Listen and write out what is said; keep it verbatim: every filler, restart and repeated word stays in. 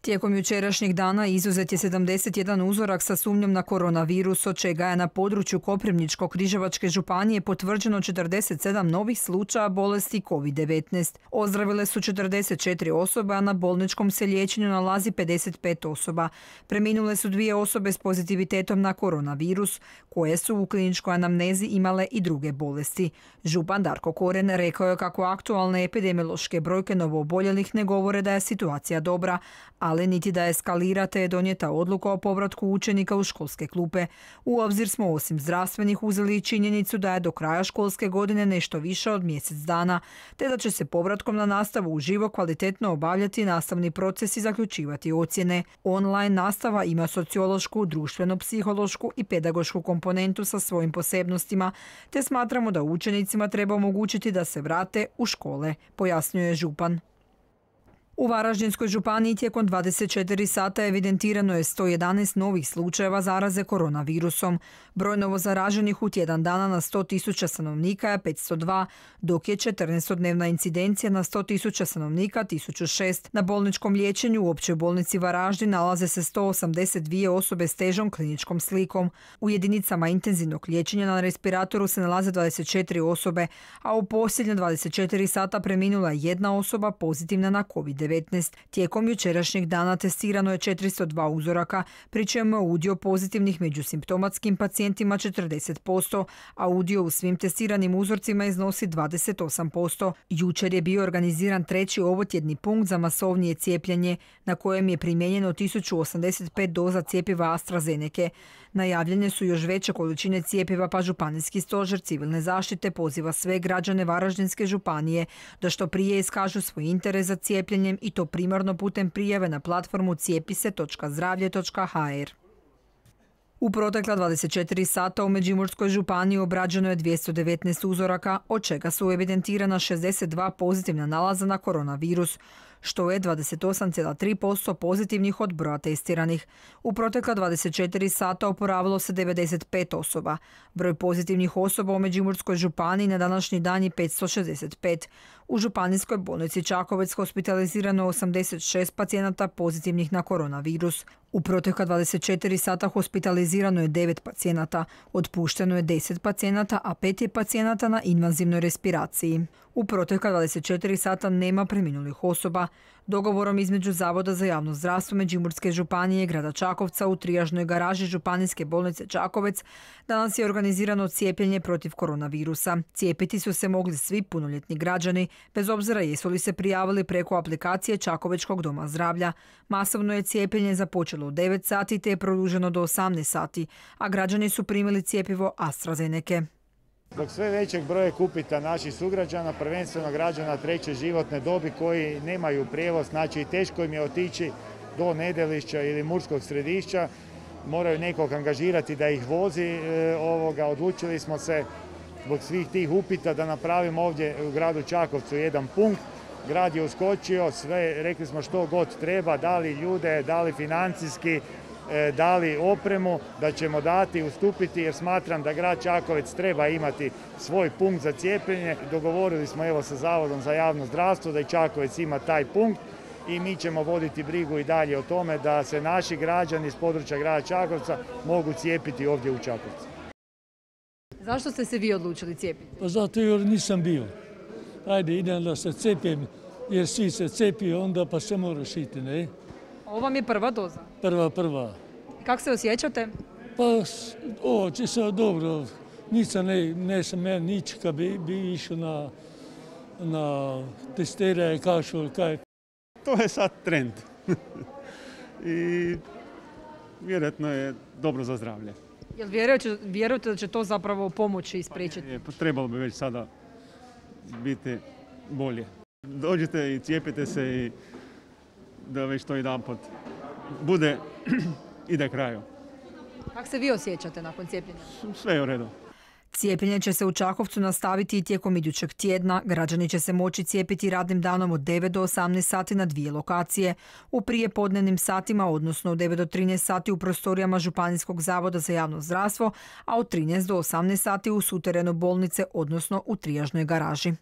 Tijekom jučerašnjeg dana izuzet je sedamdeset jedan uzorak sa sumnjom na koronavirus, od čega je na području Koprivničko-križevačke županije potvrđeno četrdeset sedam novih slučaja bolesti kovid devetnaest. Ozdravile su četrdeset četiri osobe, a na bolničkom se liječenju nalazi pedeset pet osoba. Preminule su dvije osobe s pozitivitetom na koronavirus, koje su u kliničkoj anamnezi imale i druge bolesti. Župan Darko Koren rekao je kako aktualne epidemiološke brojke novooboljelih ne govore da je situacija dobra, ali niti da eskalira, te je donijeta odluka o povratku učenika u školske klupe. U obzir smo osim zdravstvenih uzeli i činjenicu da je do kraja školske godine nešto više od mjesec dana, te da će se povratkom na nastavu uživo kvalitetno obavljati nastavni proces i zaključivati ocjene. Online nastava ima sociološku, društveno-psihološku i pedagošku komponentu sa svojim posebnostima, te smatramo da učenicima treba omogućiti da se vrate u škole, pojasnjuje župan. U Varaždinskoj županiji tijekom dvadeset četiri sata evidentirano je sto jedanaest novih slučajeva zaraze koronavirusom. Broj novozaraženih u tjedan dana na sto tisuća stanovnika je petsto dva, dok je četrnaestodnevna incidencija na sto tisuća stanovnika tisuću šest. Na bolničkom liječenju u Općoj bolnici Varaždin nalaze se sto osamdeset dvije osobe s težom kliničkom slikom. U jedinicama intenzivnog liječenja na respiratoru se nalaze dvadeset četiri osobe, a u posljednje dvadeset četiri sata preminula je jedna osoba pozitivna na kovid devetnaest. Tijekom jučerašnjeg dana testirano je četiristo dva uzoraka, pri čemu je udio pozitivnih među simptomatskim pacijentima četrdeset posto, a udio u svim testiranim uzorcima iznosi dvadeset osam posto. Jučer je bio organiziran treći ovotjedni punkt za masovnije cijepljenje, na kojem je primijenjeno tisuću osamdeset pet doza cjepiva AstraZenece. Najavljene su još veće količine cjepiva, pa županijski stožer civilne zaštite poziva sve građane Varaždinske županije da što prije iskažu svoj interes za cijepljenjem, i to primarno putem prijave na platformu cijepise točka zdravlje točka ha er. U protekla dvadeset četiri sata u Međimurskoj županiji obrađeno je dvjesto devetnaest uzoraka, od čega su evidentirana šezdeset dva pozitivna nalaza na koronavirus, što je dvadeset osam zarez tri posto pozitivnih od broja testiranih. U protekla dvadeset četiri sata oporavilo se devedeset pet osoba. Broj pozitivnih osoba u Međimurskoj županiji na današnji dan je petsto šezdeset pet. U županijskoj bolnici Čakovec hospitalizirano je osamdeset šest pacijenata pozitivnih na koronavirus. U protekla dvadeset četiri sata hospitalizirano je devet pacijenata, otpušteno je deset pacijenata, a pet je pacijenata na invazivnoj respiraciji. U protekla dvadeset četiri sata nema preminulih osoba. Dogovorom između Zavoda za javno zdravstvo Međimurske županije i grada Čakovca u trijažnoj garaži Županijske bolnice Čakovec danas je organizirano cijepljenje protiv koronavirusa. Cijepiti su se mogli svi punoljetni građani, bez obzira jesu li se prijavili preko aplikacije Čakovečkog doma zdravlja. Masovno je cijepljenje započelo u devet sati te je produženo do osamnaest sati, a građani su primili cjepivo AstraZenece. Zbog sve većeg broja kupita naših sugrađana, prvenstveno građana treće životne dobi koji nemaju prijevoz, znači teško im je otići do Nedelišća ili Murskog Središća, moraju nekog angažirati da ih vozi. E, ovoga, odlučili smo se zbog svih tih upita da napravimo ovdje u gradu Čakovcu jedan punkt. Grad je uskočio, sve rekli smo što god treba, dali ljude, dali financijski, dali opremu, da ćemo dati, ustupiti, jer smatram da grad Čakovec treba imati svoj punkt za cijepljenje. Dogovorili smo evo sa Zavodom za javno zdravstvo da i Čakovec ima taj punkt i mi ćemo voditi brigu i dalje o tome da se naši građani iz područja grada Čakovca mogu cijepiti ovdje u Čakovcu. Zašto ste se vi odlučili cijepiti? Pa zato jer nisam bio. Ajde, idem da se cijepim, jer svi se cijepi, onda pa se moraš iti, ne? Ovo vam je prva doza? Prva, prva. Kako se osjećate? Pa, ovo će se dobro. Nisam, ne, ne sam ja nič, kad bi, bi išao na, na testiranje, kašul, kaj. To je sad trend. I vjerojatno je dobro za zdravlje. Jel vjerujete, vjerujete da će to zapravo pomoći i spriječiti? Pa je, pa trebalo bi već sada biti bolje. Dođite i cijepite se i da već to jedanput bude, ide kraju. Kako se vi osjećate nakon cijepljenja? Sve je u redu. Cijepljenje će se u Čakovcu nastaviti i tijekom idućeg tjedna. Građani će se moći cijepiti radnim danom od devet do osamnaest sati na dvije lokacije. U prijepodnevnim satima, odnosno od devet do trinaest sati u prostorijama Županijskog zavoda za javno zdravstvo, a od trinaest do osamnaest sati u suterenu bolnice, odnosno u trijažnoj garaži.